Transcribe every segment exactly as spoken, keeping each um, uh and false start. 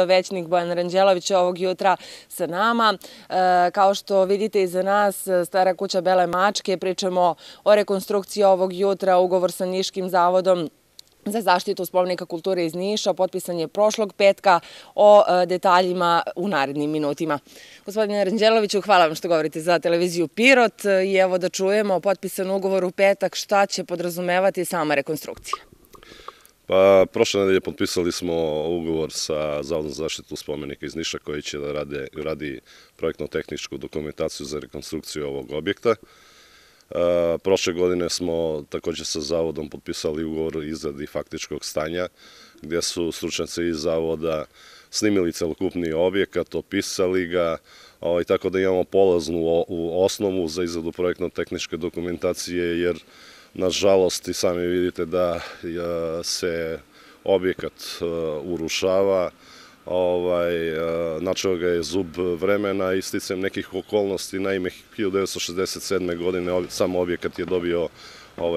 Većnik Bojan Ranđelović ovog jutra sa nama. Kao što vidite iza nas, Stara kuća Bele mačke, pričamo o rekonstrukciji ovog jutra, ugovor sa Niškim zavodom za zaštitu spomenika kulture iz Niša, potpisan je prošlog petka, o detaljima u narednim minutima. Gospodine Ranđeloviću, hvala vam što govorite za televiziju Pirot i evo da čujemo potpisan ugovor u petak, šta će podrazumevati sama rekonstrukcija. Pa, prošle nedelje potpisali smo ugovor sa Zavodom za zaštitu spomenika iz Niša koji će da rade, radi projektno-tehničku dokumentaciju za rekonstrukciju ovog objekta. E, prošle godine smo također sa Zavodom potpisali ugovor o izradi faktičkog stanja gdje su stručnjaci iz Zavoda snimili celokupni objekat, opisali ga, ovaj, tako da imamo polaznu u osnovu za izradu projektno-tehničke dokumentacije, jer nažalost i sami vidite da se objekat urušava, načeo ga je zub vremena i sticajem nekih okolnosti. Naime, hiljadu devetsto šezdeset sedme. godine sam objekat je dobio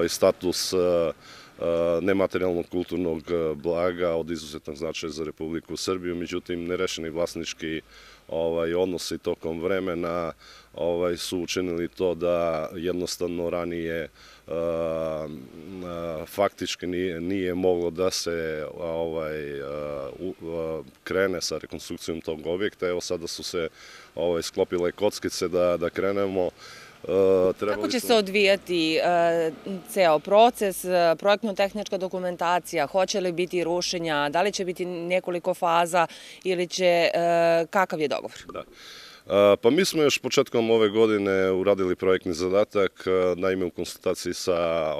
status nematerijalnog kulturnog blaga od izuzetnog značaja za Republiku Srbiju, međutim nerešeni vlasnički odnosi tokom vremena su učinili to da jednostavno ranije faktički nije moglo da se krene sa rekonstrukcijom tog objekta. Evo sada su se sklopile kockice da krenemo. Kako će se odvijati ceo proces, projektno-tehnička dokumentacija, hoće li biti rušenja, da li će biti nekoliko faza ili će, kakav je dogovor? Da. Pa mi smo još početkom ove godine uradili projektni zadatak, naime u konsultaciji sa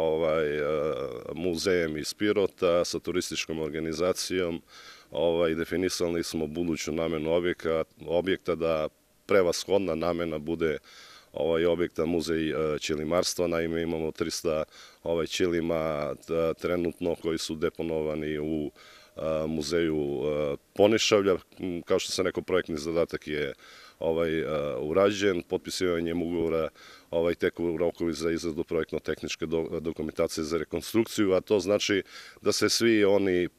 muzejem iz Pirota, sa turističkom organizacijom, definisali smo buduću namenu objekta, da prevashodna namena bude objekta muzej ćilimarstva. Naime, imamo trista ćilima trenutno koji su deponovani u muzeju Ponišavlja. Kao što sam rekao, projektni zadatak je urađen, potpisivanjem ugovora teku rokovi za izradu projektno-tehničke dokumentacije za rekonstrukciju, a to znači da se svi oni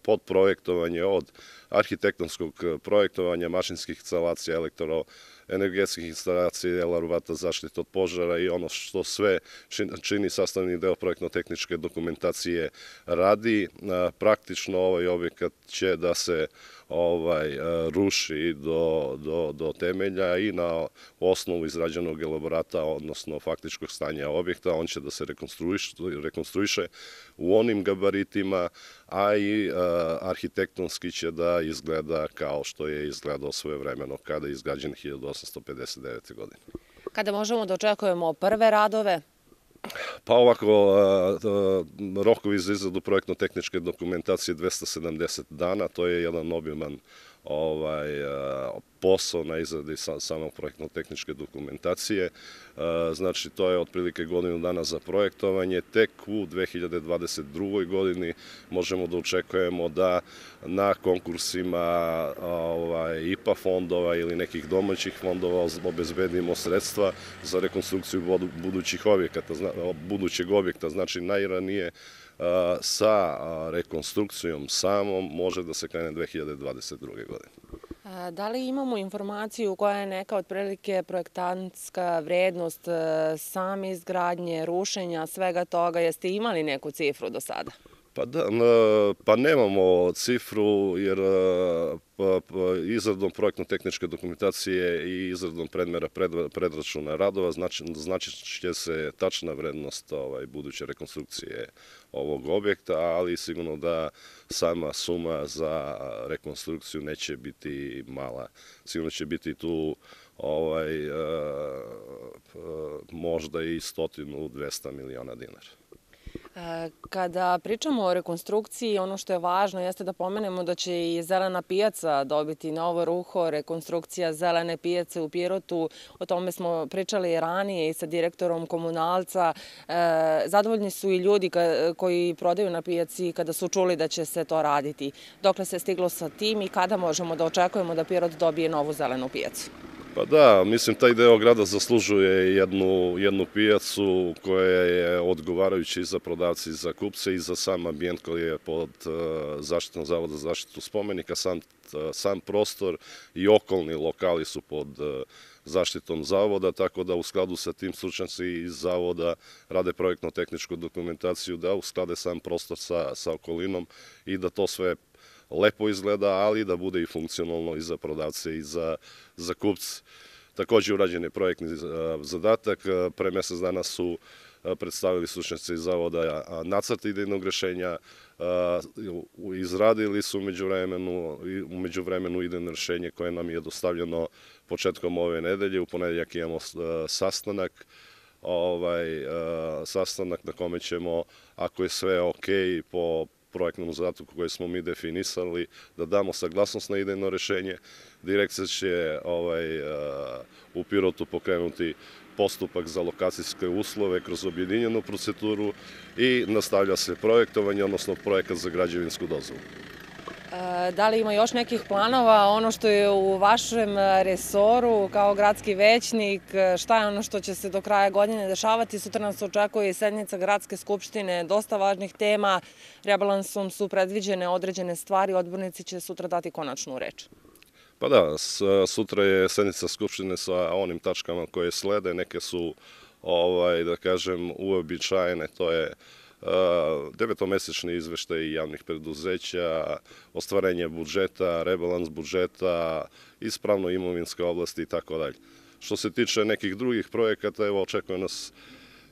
podprojektovanje od arhitektonskog projektovanja, mašinskih instalacija, elektroenergetskih instalacija, elaborata zaštite od požara i ono što sve čini sastavni deo projektno-tehničke dokumentacije radi. Praktično ovaj objekat će da se ruši do temelja i na osnovu izrađenog elaborata, odnosno faktičkog stanja objekta, on će da se rekonstruiše u onim gabaritima, a i arhitektonski će da izgleda kao što je izgledao svojevremeno kada je izgrađen hiljadu osamsto pedeset devete. godine. Kada možemo da očekujemo prve radove? Pa ovako, rokovi za izradu projektno-tehničke dokumentacije dvesta sedamdeset dana, to je jedan obiman posao na izradi samo projektno-tehničke dokumentacije. Znači, to je otprilike godinu dana za projektovanje. Tek u dve hiljade dvadeset drugoj. godini možemo da očekujemo da na konkursima I P A fondova ili nekih domaćih fondova obezbedimo sredstva za rekonstrukciju budućih objekata, budućeg objekta. Znači, najranije sa rekonstrukcijom samom može da se krene dve hiljade dvadeset druge. godine. Da li imamo informaciju koja je neka otprilike projektantska vrednost same izgradnje, rušenja, svega toga? Jeste imali neku cifru do sada? Pa da, pa nemamo cifru, jer izradom projektno-tehničke dokumentacije i izradom predmera predračuna radova znači će se tačna vrednost buduće rekonstrukcije ovog objekta, ali sigurno da sama suma za rekonstrukciju neće biti mala. Sigurno će biti tu možda i stotinu, dvesta miliona dinara. Kada pričamo o rekonstrukciji, ono što je važno jeste da pomenemo da će i Zelena pijaca dobiti novo ruho, rekonstrukcija Zelene pijace u Pirotu. O tome smo pričali ranije i sa direktorom Komunalca. Zadovoljni su i ljudi koji prodaju na pijaci kada su čuli da će se to raditi. Dokle se stiglo sa tim i kada možemo da očekujemo da Pirot dobije novu Zelenu pijacu? Pa da, mislim taj deo grada zaslužuje jednu, jednu pijacu koja je odgovarajuća i za prodavce i za kupce i za sam ambijent koji je pod uh, zaštitom Zavoda za zaštitu spomenika, sam, uh, sam prostor i okolni lokali su pod uh, zaštitom Zavoda, tako da u skladu sa tim stručnjaci iz Zavoda rade projektno-tehničku dokumentaciju da usklade sam prostor sa, sa okolinom i da to sve lepo izgleda, ali da bude i funkcionalno i za prodavce i za, za kupce. Takođe urađen je projektni zadatak. Pre mesec dana su predstavili stručnjaci iz Zavoda nacrt idejnog rešenja, izradili su umeđu vremenu, umeđu vremenu idejno rešenje koje nam je dostavljeno početkom ove nedelje. U ponedeljak imamo sastanak, ovaj, sastanak na kome ćemo, ako je sve ok, po projektnom zadatku koji smo mi definisali, da damo saglasnost na idejno rešenje. Direkcija će ovaj, u Pirotu pokrenuti postupak za lokacijske uslove kroz objedinjenu proceduru i nastavlja se projektovanje, odnosno projekat za građevinsku dozvolu. Da li ima još nekih planova? Ono što je u vašem resoru kao gradski većnik, šta je ono što će se do kraja godine dešavati? Sutra nas očekuje i sednica Gradske skupštine, dosta važnih tema. Rebalansom su predviđene određene stvari, odbornici će sutra dati konačnu reč. Pa da, sutra je sednica skupštine sa onim tačkama koje slede, neke su, ovaj, da kažem, uobičajene, to je devetomesečni izveštaj javnih preduzeća, ostvarenje budžeta, rebalans budžeta, ispravno imovinske oblasti i tako dalje. Što se tiče nekih drugih projekata, evo očekuje nas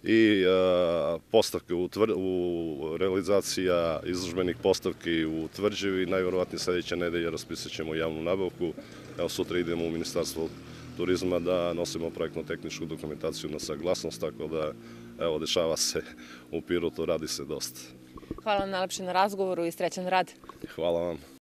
i postavke u, u realizacija izložbenih postavki u Tvrđevi. Najverovatnije sledeće nedelje raspisat ćemo javnu nabavku. Evo sutra idemo u Ministarstvo turizma da nosimo projektno-tehničku dokumentaciju na saglasnost, tako da evo dešava se u Pirotu, radi se dosta. Hvala vam najlepše na razgovoru i srećan rad. Hvala vam.